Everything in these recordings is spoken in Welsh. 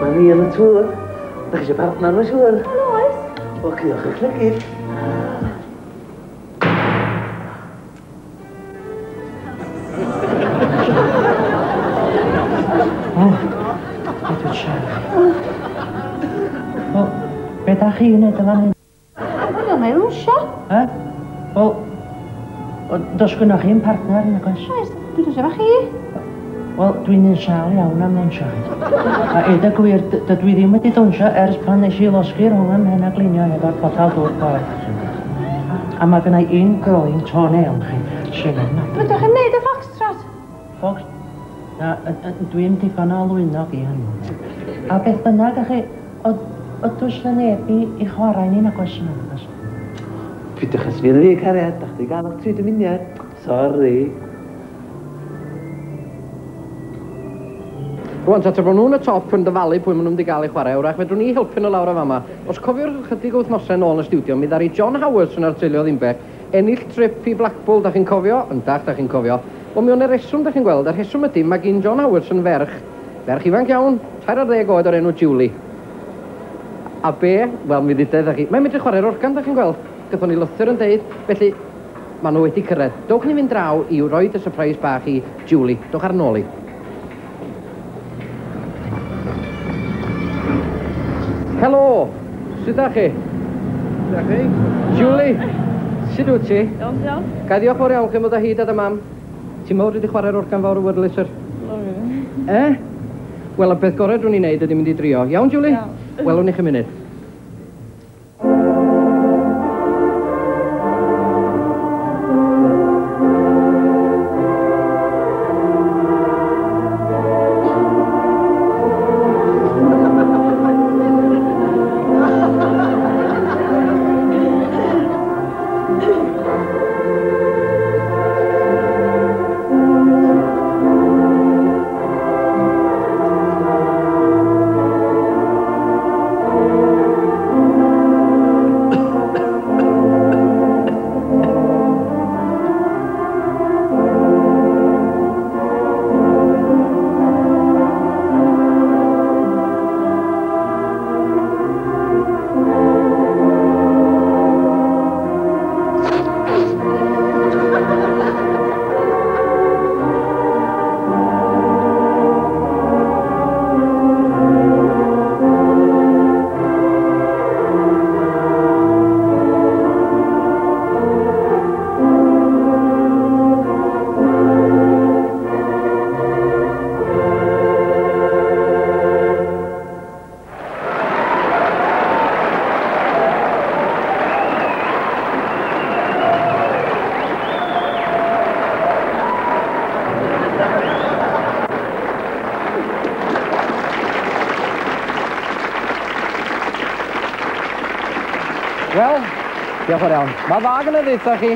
Mae ni yn y tŵr. Da chi eisiau partner, mae'n siŵr? Wel, oes. O, cuddiwch eich llygid. O, be dwi'n siarad? Wel, be da chi'n neud yn fan hyn? Wel, mae ddwnsio. E? Wel, does gynnoch chi'm partner, nag oes? Oes, dwi'n dwnsio efo chi. Wel, dwi'n un sâl iawn am ddawnsio. A eud y gwir, dydw i ddim wedi dawnsio ers pan nes i losgi rhwng 'y mhen a glinio hefo'r potel dŵr poeth. A mae gynna i ingrowing toenail chi, sy'n ofnadwy. Fedrwch chi'm neud y foxtrot? Fox... Na, dwi'm digon o lwynog i hynny. A beth bynnag, a chi, ond does 'na neb i chwarae i ni nag oes yna, nag oes? Peidiwch â sbio arna fi, cariad. Dach chdi gael eich tri dymuniad. Sori. Rwan ta, tra bod nhw'n y top yn dyfalu pwy maen nhw'n mynd i gael i chwarae, wrach fedrwn ni helpu nhw lawr yn fama. Os cofiwch ychydig o wythnosau nôl yn y stiwdio, mi ddaru John Howards yn Arteilio Ddinbych ennill trip i Blackpool, da chi'n cofio? Yndach, da chi'n cofio. Wel, mi o'n 'na reswm, da chi'n gweld, a'r rheswm ydy, mae gin John Howards yn ferch, ferch ifanc iawn, 13 oed o'r enw Julie. A be? Wel, mi ddeuda idda chi, mae'n medru chwarae'r organ, da chi'n gweld. Gathon ni lythyr yn deud, felly, maen nhw wedi cyrraedd. Dowch ni fynd draw i roid y surprise bach i Julie. Dowch ar nôl i. Helo! Sut da chi? Da chi? Julie, sut wyt ti? Iawn, diolch. Ga i ddiolch fawr iawn chi am ddod o hyd at y mam. Ti'n meddwl dwi 'di chwarae'r organ fawr y Wurlitzer? E? Wel, y peth gorau drwn ni wneud ydy mynd i drio. Iawn, Julie? Iawn. Welwn ni chi munud. Wel, diolch yn fawr iawn. Mae dda gynna i ddeutha chi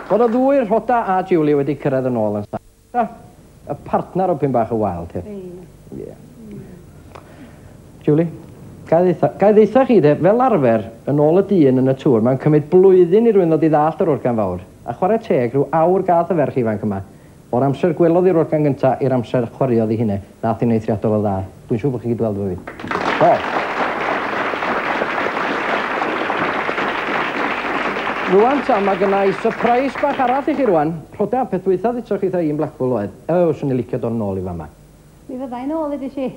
bod y ddwy, Rhoda a Julie, wedi cyrraedd yn ôl yn saff. Y partner o pyn bach o wild, he. Ie. Julie, ga i ddeutha, ga i ddeutha chi de, fel arfer, yn ôl y dyn yn y tŵr, mae'n cymryd blwyddyn i rywun ddod i ddallt yr organ fawr. A chwarae teg, rhyw awr gath y ferch ifanc yma. O'r amser gwelodd hi'r organ gynta i'r amser chwaraeodd hi hynne, nath hi'n eithriadol o dda. Dwi'n siŵr bod chi'n gyd weld efo fi. Do. Rwan ta, mae gynna i surprise bach arall i chi rwan. Rhoda, peth dwytha ddutoch chi 'tha i yn Blackpool oedd, o, swn i'n licio dod nôl i fama. Mi fydda i nôl, ddeudais i.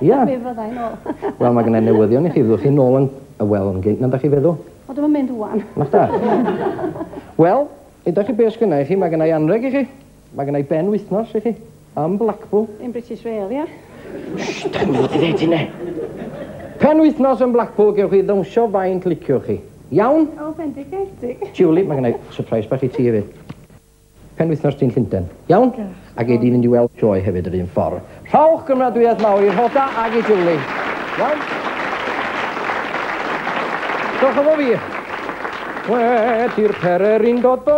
Ia? Mi fydda i nôl. Wel, mae gynna i newyddion i chi, fyddwch chi nôl yn, wel, yn gynt na dach chi feddwl. O, dwi'm yn mynd ŵan. Na chda? Wel, ydach chi be sgynna i chi, mae gynna i anreg i chi. Mae gynna i ben wythnos i chi, am Blackpool. In British Rail, ia? Shh, dach chi'm i fod i ddeud hynne. Pen wythnos yn Blackpool, gewch chi ddawnsio faint liciwch chi. Iawn? O, bendigedig. Julie, mae gynna i surprise bach i ti hefyd. Penwythnos ti'n Llundain. Iawn? A gei di fynd i weld sioe hefyd yr un ffordd. Rhowch gymeradwyaeth mawr i Rhoda ag i Julie. Iawn? Dewch efo fi. Wedi'r pererin dod